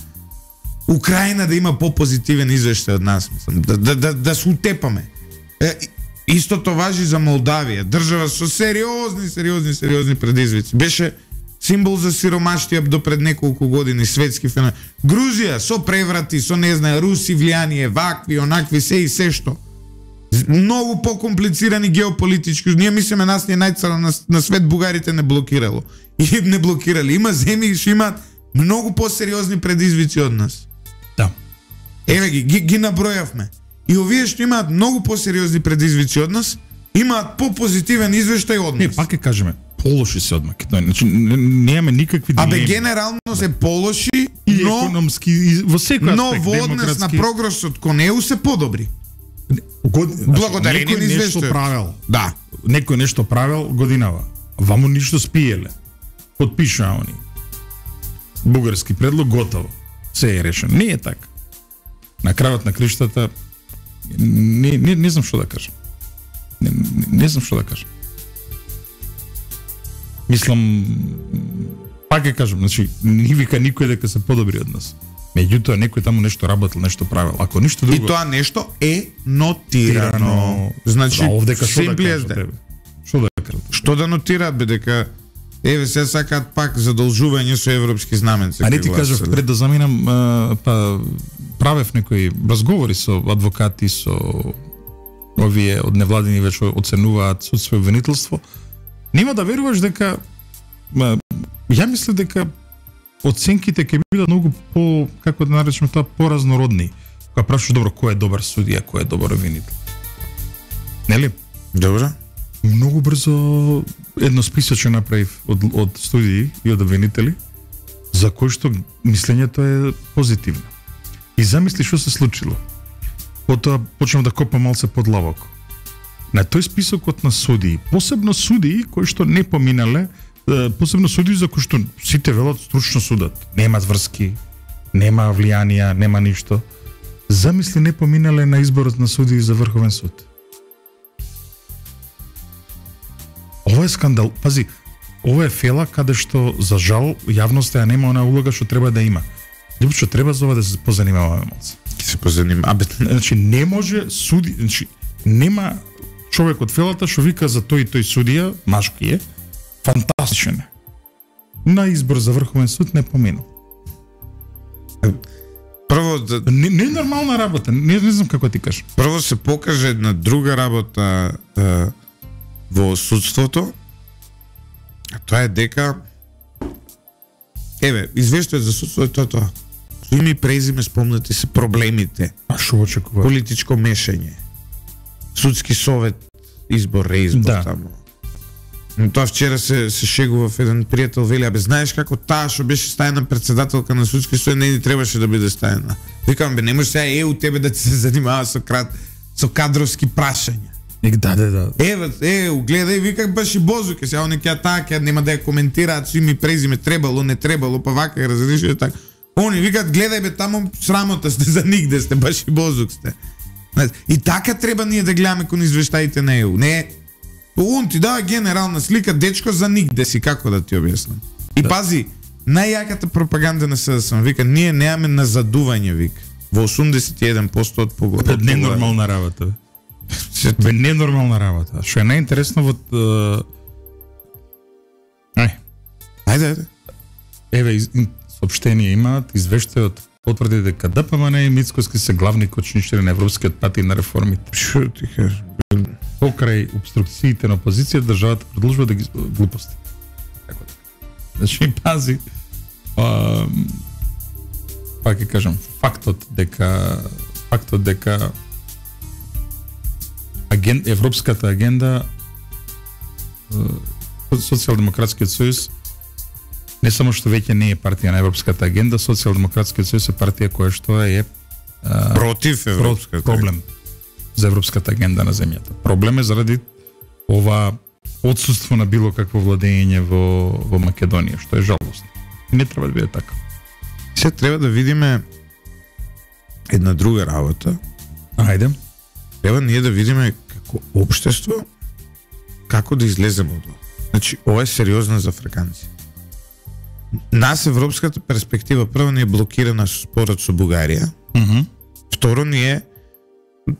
Украина да има попозитивен извештај од нас, мислам, да се утепаме. Истото важи за Молдавија, држава со сериозни предизвици. Беше символ за сиромаштија до пред неколку години, светски феномен. Грузија со преврати, со не знае, руси влијание, вакви, онакви, се и се што. Многу покомплицирани геополитички. Ние мислиме нас не најцара на свет, бугарите не блокирало. И не блокирали. Има земји што имаат многу посериозни предизвици од нас. Да. Еве ги набројавме. И овие што имаат многу посериозни предизвици од нас, имаат попозитивен извештај од нас. Не, пак ќе кажеме, полоши се од Македонија. Значи немаме никакви дилеми. Абе генерално се полоши, и но економски и во секој аспект, но во однос на прогресот кон ЕУ се подобри. Благодарение на извештајот. Правел. Да. Некој нешто правел годинава. Ваму ништо спиеле. Подпишаа они. Бугарски предлог готово. Се е решено. Не е така. На крајот на криштата не знам што да кажам. Не знам што да кажам. Мислам, пак ќе кажам, значи, не вика никој дека се подобри од нас. Меѓутоа, некој таму нешто работел, нешто правил. Ако ништо друго... И тоа нешто е нотирано. Значи, овдека што да кажат тебе? Што да кажат? Што да нотираат, бе, дека еве се сакаат пак задолжување со европски знаменци. А не ти кажав, пред да заминам, па правев некои разговори со адвокати, со овие од невладини веќе оценуваат судство и обвинителство. Нема да веруваш дека ја мислам дека оценките ќе бидат многу по, како да наречеме тоа, поразнородни. Кога прашуваш добро кој е добар судија, кој е добар обвинител. Нели? Добро. Многу брзо едно списоче направив од студии и од обвинители за кои што мислењето е позитивно. И замисли што се случило. Потоа почнав да копам малце подлабоко. На тој списокот на судии, посебно судии кои што не поминале, посебно судии за кои што сите велат стручно судат, нема врски, нема влијанија, нема ништо. Замисли не поминале на изборот на судии за Врховен суд. Ова е скандал. Пази, ова е фела каде што за жал јавноста ја нема онаа улога што треба да има. Лјупчо, треба за ова да се позанимаваме малце. Ќе се позанимаваме. Значи не може суди, значи нема човек од фелата што вика за тој и тој судија, машки е, фантастичен е. На избор за Врховен суд не поминал. Прво не е нормална работа, не знам како ти кажам. Прво се покаже една друга работа во судството, а тоа е дека еве, извештајот за судството е тоа. Со име и презиме спомнати се проблемите. А што очекува? Политичко мешање. Судски совет, избор, реизбор, да. Таму. Но тоа вчера се шегував еден пријател, вели, абе знаеш како таа што беше стајна председателка на судски совет не требаше да биде стајна. Викам, бе, не може сега ЕУ тебе да ти се занимава со кадровски прашања. Да. Еу, гледај, викак баш и Бозуке, сега они ќе таа ќе нема да ја коментираат со име и презиме, требало, не требало, па вака ја разреши така. Они викаат, гледај бе, таму срамота сте, за нигде сте, баш и Бозук сте. И така треба ние да гледаме кон извештаите на ЕУ. Не, он ти дава генерална слика, дечко, за нигде си, како да ти објаснам. И пази, најјаката пропаганда на СДСМ вика, ние немаме назадување, вика. Во 81% од погода. Ненормална работа. Бе, ненормална работа. Што е најинтересно во Ајде. Еве соопштение имаат, извештајот потврди дека ДПМН и Мицкоски се главни кочничари на европскиот пат и на реформите. Што ти кажеш? Покрај обструкциите на опозиција, државата продолжува да ги глупости. Така така. Значи, пази, пак ќе кажам, фактот дека европската агенда, Социјалдемократскиот сојуз не само што веќе не е партија на европската агенда, Социјалдемократскиот сојуз е партија која што е против европската проблем за европската агенда на земјата. Проблем е заради ова отсуство на било какво владење во Македонија, што е жалосно. И не треба да биде така. Се треба да видиме една друга работа. Ајде. Треба ние да видиме како општество како да излеземе од ова. Значи, ова е сериозно за африканци. Нас европската перспектива прво ни е блокирана со спорот со Бугарија. Второ ни е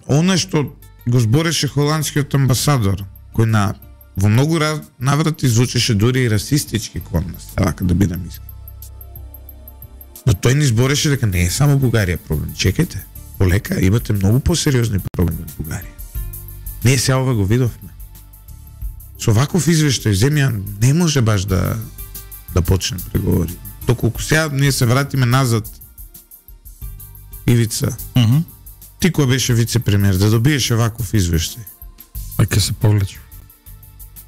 она што го збореше холандскиот амбасадор, кој во многу наврати звучеше дури и расистички кон нас, така да бидам искрен. Но тој ни збореше дека не е само Бугарија проблем. Чекајте, полека, имате многу посериозни проблеми од Бугарија. Ние се ова го видовме. Со ваков извештај земја не може баш да почне преговори. Доколку сега ние се вратиме назад, Ивица, ти кој беше вице-премиер, да добиеше ваков извештај? Ќе се повлече.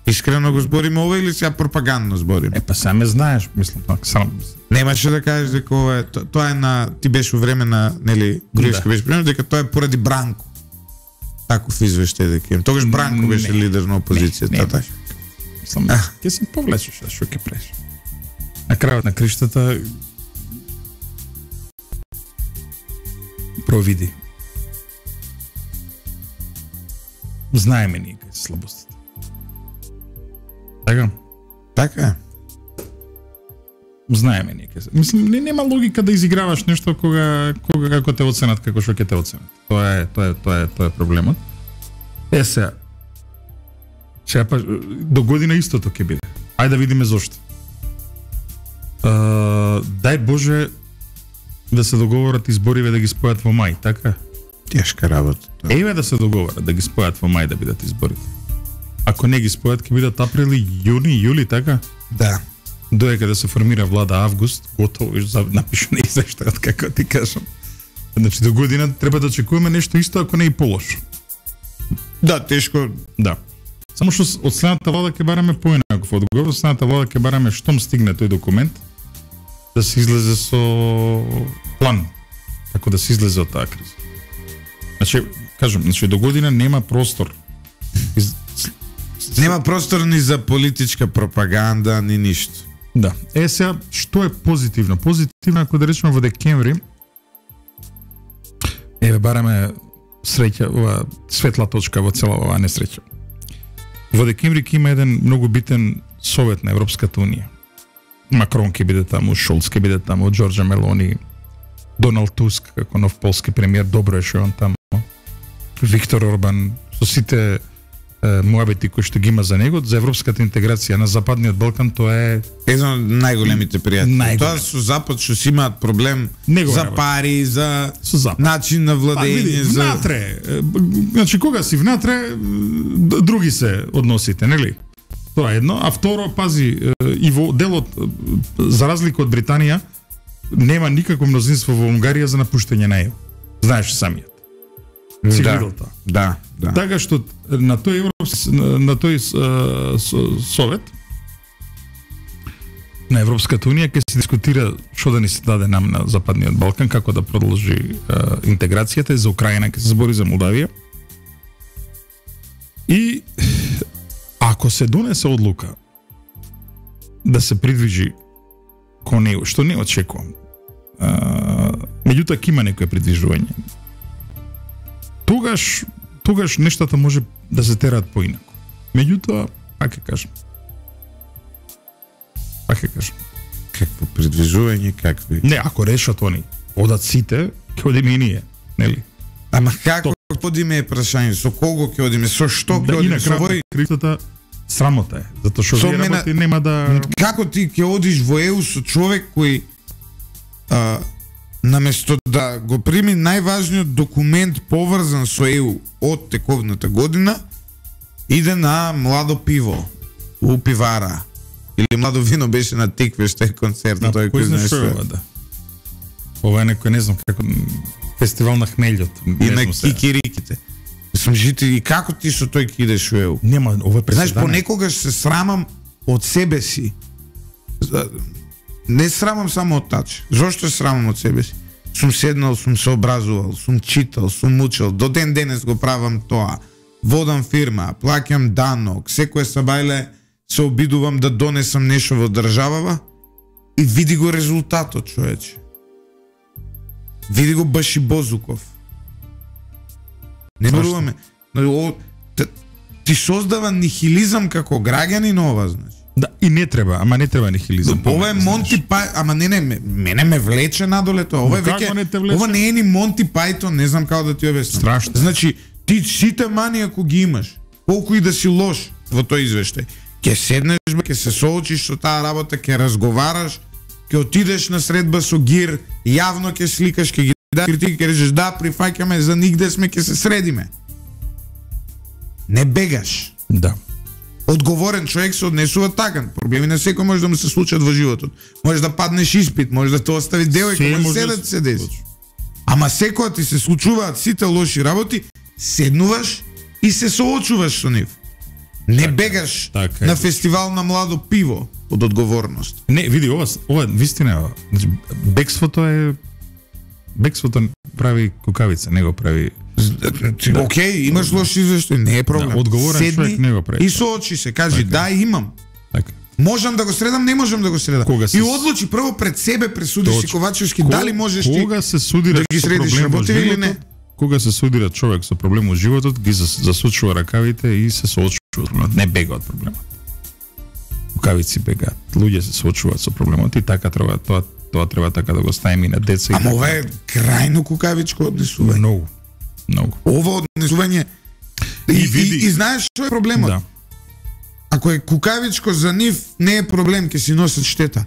Искрено го збориме ова или сега пропагандно збориме? Па саме знаеш, мислам, само немаше да кажеш дека ова е тоа е на ти беше во време на нели Груевски беше премиер, дека тоа е поради Бранко. Таков извештај дека им. Тогаш Бранко беше лидер на опозицијата, така. Мислам, ќе се повлечеш, што ќе правиш? На крајот на криштата провиди. Знаеме ние кај се слабостите. Така? Така. Знаеме ние кај се. Мислам, нема логика да изиграваш нешто кога како те оценат, како што ќе те оценат. Тоа е проблемот. Сега па до година истото ќе биде. Ајде да видиме зошто. Дај Боже да се договорат избориве да ги спојат во мај, така? Тешка работа. Еве да се договорат да ги спојат во мај да бидат изборите. Ако не ги спојат, ќе бидат априли, јуни, јули, така? Да. Доека да се формира влада август, готово напишано извештајот, како ти кажам. Значи до година треба да очекуваме нешто исто, ако не и полошо. Да, тешко. Да. Само што од следната влада ќе бараме поинаков одговор, од следната влада ќе бараме штом стигне тој документ да се излезе со план како да се излезе од таа криза. Значи, кажам, до година нема простор. Нема простор ни за политичка пропаганда, ни ништо. Да. Сега, што е позитивно? Позитивно, ако да речеме во декември, бараме среќа, ова светла точка во цела оваа несреќа. Во декември ќе има еден многу битен совет на Европската унија. Макрон ќе биде таму, Шолц ќе биде таму, Џорџа Мелони, Доналд Туск како нов полски премиер, добро е што он таму. Виктор Орбан, со сите муабети кои што ги има за него, за европската интеграција на Западниот Балкан, тоа е еден од најголемите пријатели. Тоа со Запад што си имаат проблем за пари, за начин на владење, за внатре. Значи кога си внатре, други се односите, нели? Тоа е едно, а второ, пази, и во делот, за разлика од Британија, нема никакво мнозинство во Унгарија за напуштање на ЕУ. Знаеш самиот. Си видел тоа. Да. Така што на тој совет на Европската унија ќе се дискутира што да ни се даде нам на Западниот Балкан, како да продолжи интеграцијата, за Украина ќе се збори, за Молдавија. И ако се донесе одлука да се придвижи кон него, што не очекувам, меѓутоа ќе има некое придвижување, тогаш нештата може да се тераат поинаку. Меѓутоа, пак ќе кажам. Какво предвижување, какви? Не, ако решат они, одат сите, ќе одиме и ние, нели? Ама како одиме е прашање, со кого ќе одиме, со што ќе одиме, со вој... Критата срамота е, затоа што вие работи нема да... Како ти ќе одиш во ЕУ со човек кој наместо да го прими најважниот документ поврзан со ЕУ од тековната година, иде на младо пиво у пивара или младо вино беше на Тикве, што е концерт, тој кој знае што е. Да. Ова е некој, не знам како, фестивал на хмељот. И на кикириките. Сум жити и како ти со тој ќе идеш во ЕУ? Нема, ова преседане. Знаеш, понекогаш се срамам од себе си. Не срамам само од тач. Зошто се срамам од себе си? Сум седнал, сум се образувал, сум читал, сум учел, до ден денес го правам тоа. Водам фирма, плаќам данок, секој сабајле се обидувам да донесам нешто во државава и види го резултатот, човече. Види го Баши Бозуков. Не веруваме. Ти создава нихилизам како граѓанин ова, значи. Да, и не треба, ама не треба нихилизам. Ова е Монти Пајтон, ама не, мене ме влече надоле тоа. Ова е веќе, ова не е ни Монти Пајтон, не знам како да ти објаснам. Страшно. Значи, ти сите мани ако ги имаш, колку и да си лош во тој извештај, ќе седнеш, ќе се соочиш со таа работа, ќе разговараш, ќе отидеш на средба со ГИР, јавно ќе сликаш, ќе ги дадеш критики, ќе речеш да, прифаќаме, за нигде сме, ќе се средиме. Не бегаш. Да. Одговорен човек се однесува така. Проблеми на секој може да му се случат во животот. Може да паднеш испит, може да те остави девојка, може да се деси. Ама секоја ти се случуваат сите лоши работи, седнуваш и се соочуваш со нив. Не бегаш на фестивал на младо пиво од одговорност. Не, види, ова вистина е. Значи, бегството прави кукавица, не го прави. Океј, имаш лош извештај, не е проблем. Да, одговорен човек не го прави. И соочи се, кажи да, имам. Така. Можам да го средам, не можам да го средам. И одлучи прво пред себе, пресудиш си Ковачевски, дали можеш ти кога се судира да ги средиш работи или не. Кога се судира човек со проблем во животот, ги засучува ракавите и се соочува. Не бега од проблемот. Кукавици бегаат. Луѓе се соочуваат со проблемот и така треба тоа треба така да го ставиме и на деца. Ама ова е крајно кукавичко однесување. Многу. Ова однесување и знаеш што е проблемот? Да. Ако е кукавичко за нив, не е проблем, ќе си носат штета.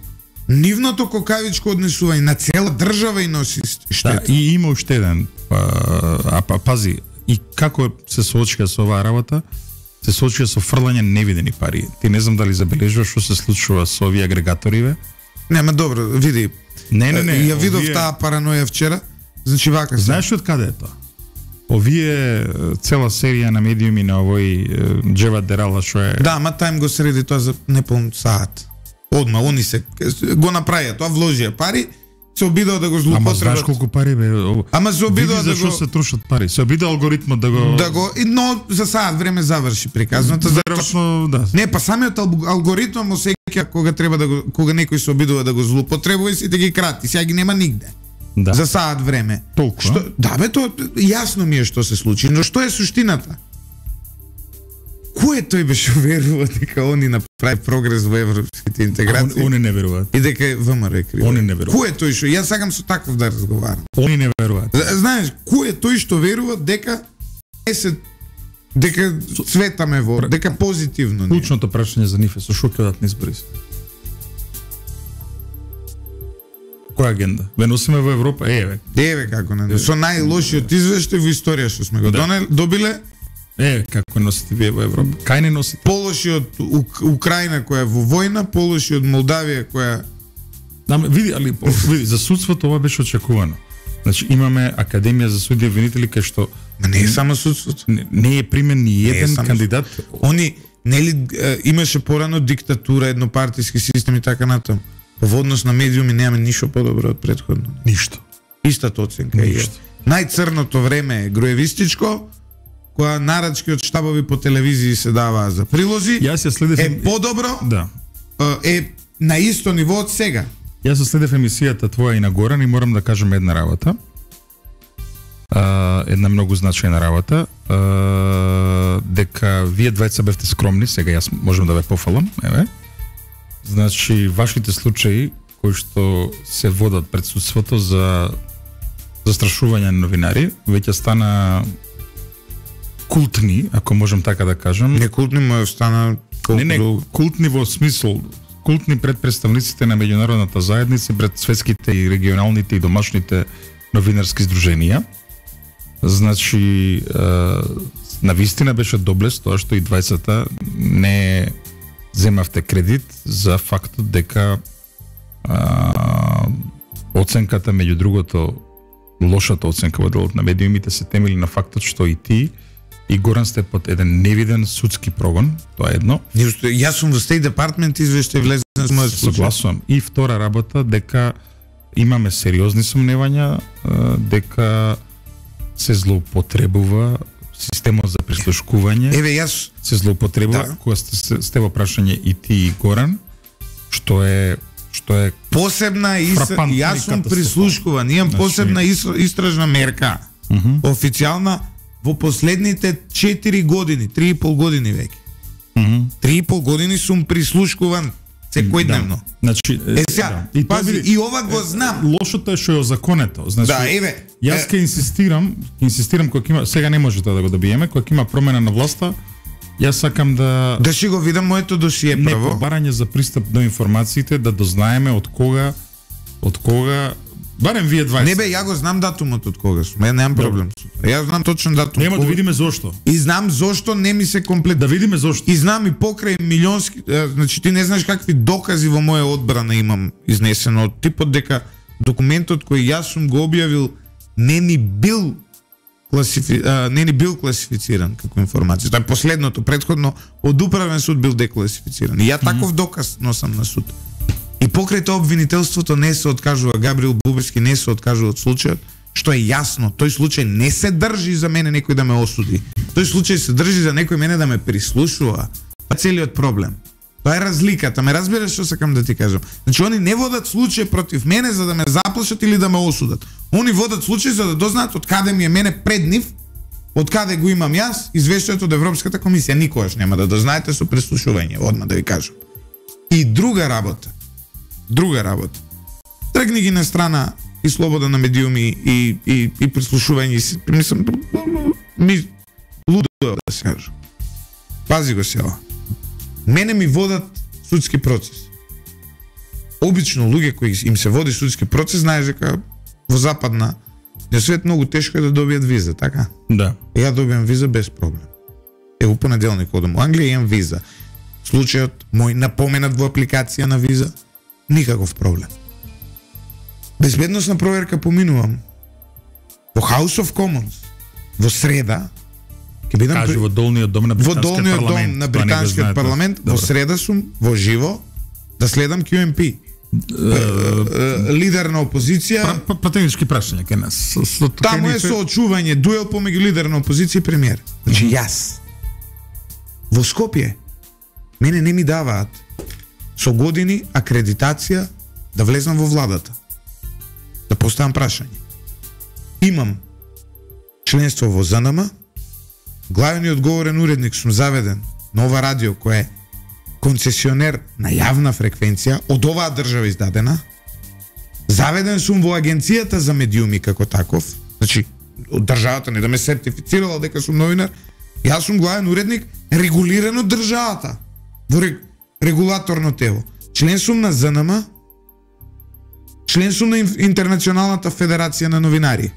Нивното кукавичко однесување на цела држава и носи штета. Да, и има уште еден. Пази, и како се соочија со оваа работа? Се соочија со фрлање невидени пари. Ти не знам дали забележуваш што се случува со овие агрегаториве. Нема добро, види. Не. Ја видов таа параноја вчера. Значи вака. Знаеш од каде е тоа? Овие цела серија на медиуми на овој Джева Дерала што е. Да, ма тај го среди тоа за неполн саат. Одма, они се го направија тоа, вложија пари, се обидува да го злоупотребат. Ама знаеш колку пари бе? Ама се обидува да го... Зашо се трошат пари? Се обидува алгоритмот да го... Но за саат време заврши приказната. Веројатно, да. Не, па самиот алгоритм му сеќа кога треба да го, кога некој се обидува да го злоупотребува и сите ги крати. Сега ги нема нигде. Да. За саат време. Толку, што, да бе, тоа јасно ми е што се случи, но што е суштината? Кој тој беше верува дека они направи прогрес во европските интеграции? Они не веруваат. И дека ВМРО е криво. Они не веруваат. Кој е тој што јас сакам со таков да разговарам? Они не веруваат. Знаеш, кој е тој што верува дека дека светаме во, дека позитивно не. Клучното прашање за нив е со што ќе одат на избори. Која агенда? Ве носиме во Европа, еве како не. Со најлошиот извештај во историја што сме го добиле. Како носите вие во Европа? Кај не носите? Полоши од Украина која е во војна, полоши од Молдавија која... Види, за судството ова беше очекувано. Значи имаме Академија за судија винители кај што... Не е само судството. Не е примен ни еден кандидат. Они, нели, имаше порано диктатура, еднопартиски систем и така натаму. Во однос на медиуми немаме ништо подобро од претходно. Ништо. Истата оценка е. Најцрното време е груевистичко, која нарачки од штабови по телевизии се даваа за прилози. Јас ја следев... Е подобро. Да. Е на исто ниво од сега. Јас ја следев емисијата твоја и на Горан и морам да кажам една работа. Една многу значајна работа. Дека вие двајца бевте скромни, сега јас можам да ве пофалам, еве. Значи, вашите случаи кои што се водат пред судството за застрашување на новинари, веќе стана култни, ако можам така да кажам. Не култни, но стана Не, култни во смисол, култни пред представниците на меѓународната заедница, пред светските и регионалните и домашните новинарски здруженија. Значи, навистина беше доблес тоа што и 20-та не земавте кредит за фактот дека оценката, меѓу другото, лошата оценка во делот на медиумите се темели на фактот што и ти и Горан сте под еден невиден судски прогон, тоа е едно. Јас сум во State Department извештај влезен со мојот случај. Согласувам. И втора работа дека имаме сериозни сомневања дека се злоупотребува системот за прислушкување. Еве јас се злоупотребува кога сте во прашање и ти и Горан, што е посебна јас сум прислушкуван, имам посебна истражна мерка. Официјална во последните 4 години, 3,5 години веќе. 3,5 години сум прислушкуван секојдневно. Значи, пази, и ова го знам. Лошото е што е озаконето. Значи, да, еве. Јас ќе инсистирам кога има, сега не може да го добиеме, кога има промена на власта, јас сакам да си го видам моето досие прво. Не, побарање за пристап до информациите, да дознаеме од кога барем вие 20. Не бе, ја го знам датумот од кога сум. Ја немам проблем. Јас знам точно датум. Нема да видиме зошто. И знам зошто не ми се комплет. Да видиме зошто. И знам и покрај милионски, значи ти не знаеш какви докази во моја одбрана имам изнесено од типот дека документот кој јас сум го објавил не ни бил класифициран како информација. Тоа е последното, претходно од управен суд бил декласифициран. И ја таков доказ носам на суд. И покрај тоа обвинителството не се откажува, Габриел Буберски не се откажува од случајот, што е јасно, тој случај не се држи за мене некој да ме осуди. Тој случај се држи за некој мене да ме прислушува. Тоа е целиот проблем. Тоа е разликата, ме разбираш што сакам да ти кажам. Значи они не водат случај против мене за да ме заплашат или да ме осудат. Они водат случај за да дознаат од каде ми е мене пред нив, од каде го имам јас, извештајот од Европската комисија. Никогаш нема да дознаете со прислушување, одма да ви кажам. И друга работа. Тргни ги на страна и слобода на медиуми и прислушување. Мислам, ми лудо да се кажам. Пази го сега. Мене ми водат судски процес. Обично луѓе кои им се води судски процес, знаеш дека во западна свет многу тешко е да добијат виза, така? Да. Ја добијам виза без проблем. Во понеделник одам во Англија, имам виза. Случајот мој напоменат во апликација на виза, никаков проблем. Безбедносна проверка поминувам. Во House of Commons, во среда, ќе бидам во долниот дом на британскиот парламент, во среда сум во живо да следам QMP. Лидер на опозиција, пратенички прашања кај нас. Таму е соочување, дуел помеѓу лидер на опозиција и премиер. Значи јас во Скопје мене не ми даваат со години акредитација да влезам во владата. Да поставам прашање. Имам членство во ЗНМ, главниот говорен уредник сум заведен на ова радио кој е концесионер на јавна фреквенција од оваа држава издадена. Заведен сум во агенцијата за медиуми како таков. Значи, од државата не да ме сертифицирала дека сум новинар. Јас сум главен уредник регулиран од државата. Во регулаторно тело. Член сум на ЗНМ, член сум на Интернационалната федерација на новинари.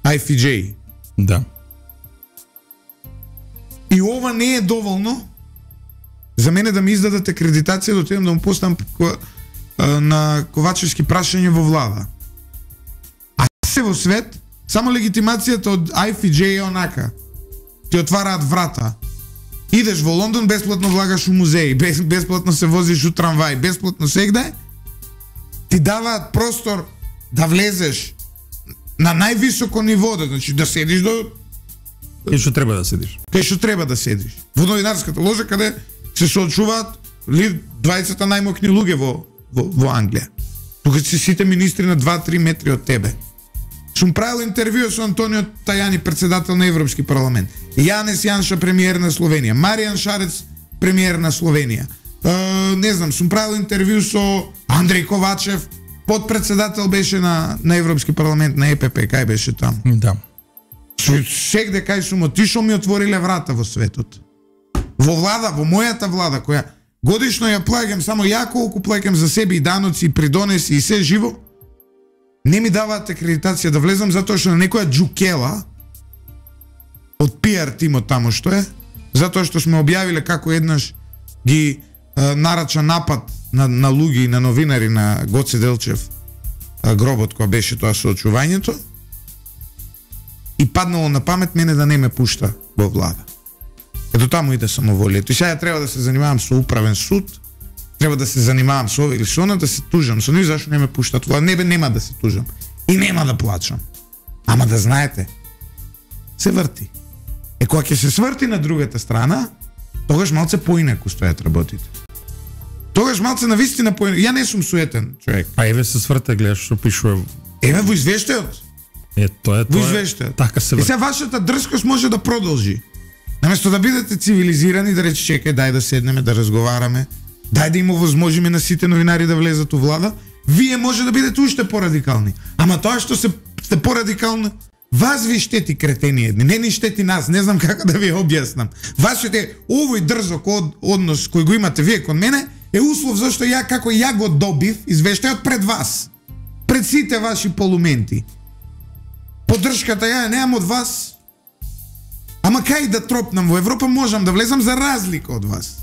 IFJ. Да. И ова не е доволно за мене да ми издадат акредитација да отидам да му поставам на Ковачевски прашање во влада. А се во свет, само легитимацијата од IFJ е онака. Ти отвараат врата. Идеш во Лондон, бесплатно влагаш у музеи, бесплатно се возиш у трамвај, бесплатно сегде, ти даваат простор да влезеш на највисоко ниво, значи да седиш до кај што треба да седиш. Кај што треба да седиш. Во новинарската ложа каде се соочуваат 20 најмокни луѓе во Англија. Тука се сите министри на 2-3 метри од тебе. Сум правил интервју со Антонио Тајани, председател на Европски парламент. Јанес Јанша, премиер на Словенија. Маријан Шарец, премиер на Словенија. не знам, сум правил интервју со Андреј Ковачев, подпредседател беше на Европски парламент, на ЕПП, кај беше таму. Да. Сегде кај сум отишол ми отвориле врата во светот. Во влада, во мојата влада, која годишно ја плаќам, само ја колку плаќам за себе и даноци, и придонеси и се живо, не ми даваат акредитација да влезам затоа што на некоја джукела од пиар тимот таму што е, затоа што сме објавиле како еднаш ги нарача напад на луѓе и на новинари на Гоце Делчев гробот која беше тоа соочувањето, и паднало на памет мене да не ме пушта во влада. Ето таму иде самоволието. И сега треба да се занимавам со управен суд, треба да се занимавам со ова или со она, да се тужам со нив зашто не ме пуштат влада. Нема да се тужам. И нема да плачам. Ама да знаете, се врти. Кога ќе се сврти на другата страна, тогаш малце поинаку стојат работите. Тогаш малце на вистина поинаку. Ја не сум суетен човек. А еве се сврте, гледаш што пишува. Еве во извештајот. Тоа во извештајот. Така се врти. И сега вашата дрскост може да продолжи. Наместо да бидете цивилизирани, да рече чекај, дај да седнеме, да разговараме, дај да им овозможиме на сите новинари да влезат у влада, вие може да бидете уште порадикални. Ама тоа што сте порадикални, вас ви штети, кретени едни, не ни штети нас, не знам како да ви објаснам. Вас штети овој дрзок однос кој го имате вие кон мене е услов зашто ја како ја го добив извештајот пред вас, пред сите ваши полументи. Поддршката ја немам од вас. Ама кај да тропнам во Европа можам да влезам за разлика од вас.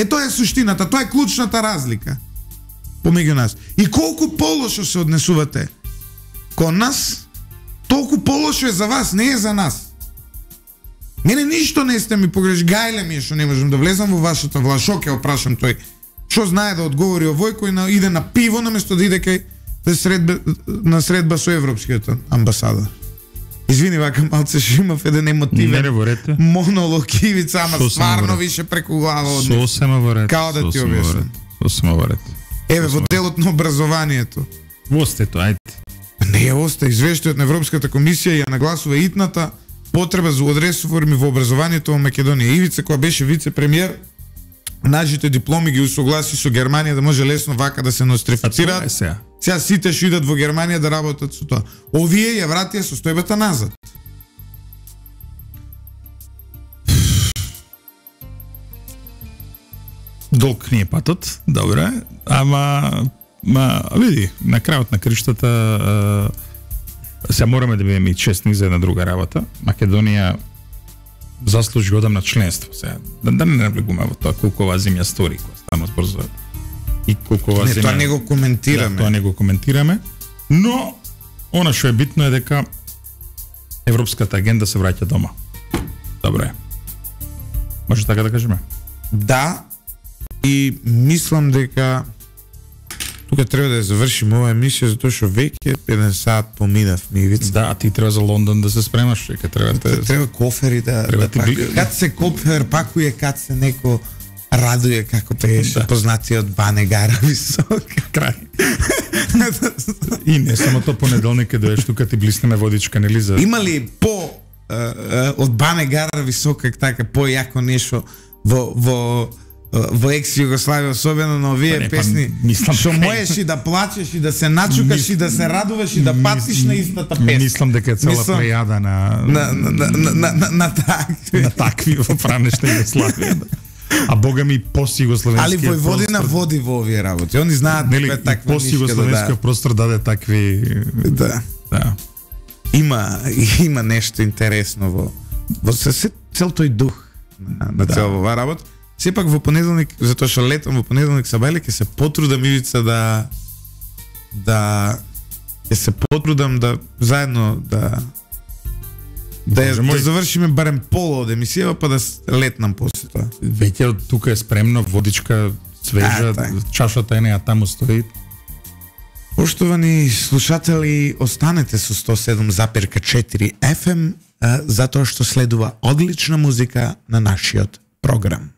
Тоа е суштината, тоа е клучната разлика помеѓу нас. И колку полошо се однесувате кон нас, толку полошо е за вас, не е за нас. Мене ништо не сте ми погреш, гајле ми е што не можам да влезам во вашата власт. Шо ќе опрашам тој? Што знае да одговори овој кој иде на пиво наместо да иде кај на средба со европскиот амбасадор? Извини, вака малце што имав еден емотивен монолог Ивица, ама стварно више преку глава од него. Сосема во ред. Као да ти објаснам. Сосема во ред. Еве, во делот на образованието. Остето, ајде. Не оста, извештајот на Европската комисија ја нагласува итната потреба за реформи во образованието во Македонија. Ивица, која беше вице-премиер, нашите дипломи ги усогласи со Германија да може лесно вака да се нострифицираат. Сега сите што идат во Германија да работат со тоа. Овие ја вратија состојбата назад. Долг ни е патот, добре, ама види, на крајот на криштата се мораме да бидеме и честни за една друга работа. Македонија заслужи одамна членство. Сега да не навлегуваме во тоа колку ова земја стори, која станува збор за и колку ова земја. Тоа не го коментираме. Да, тоа не го коментираме, но она што е битно е дека европската агенда се враќа дома. Добре. Може така да кажеме? Да. И мислам дека тука треба да ја завршиме оваа емисија затоа што веќе 1 сат поминав Мивица. Да, а ти треба за Лондон да се спремаш, дека треба кофери да кад се кофер пакуе, кад се неко радуе како беше познатиот Бане Гара висок крај. И не само тоа, понеделник доеш тука ти блиснеме водичка, нели за. Има ли од Бане Гара висок така појако нешто во екс-Југославија, особено на овие песни, што можеш и да плачеш, и да се начукаш, и да се радуваш, и да патиш на истата песна. Мислам дека е цела плејада на такви во пранешна Југославија. А бога ми пост-југословенскиот простор. Али Војводина води во овие работи. Они знаат дека таква пост-југословенскиот простор даде такви. Да. Има нешто интересно во цел тој дух на цел оваа работа. Сепак во понеделник, затоа што летам во понеделник сабајле, ќе се потрудам Ивица да се потрудам да заедно да завршиме барем пола од емисија, па да летнам после тоа. Веќе од тука е спремно, водичка свежа, чашата е неа таму стои. Поштовани слушатели, останете со 107,4 FM, затоа што следува одлична музика на нашиот програм.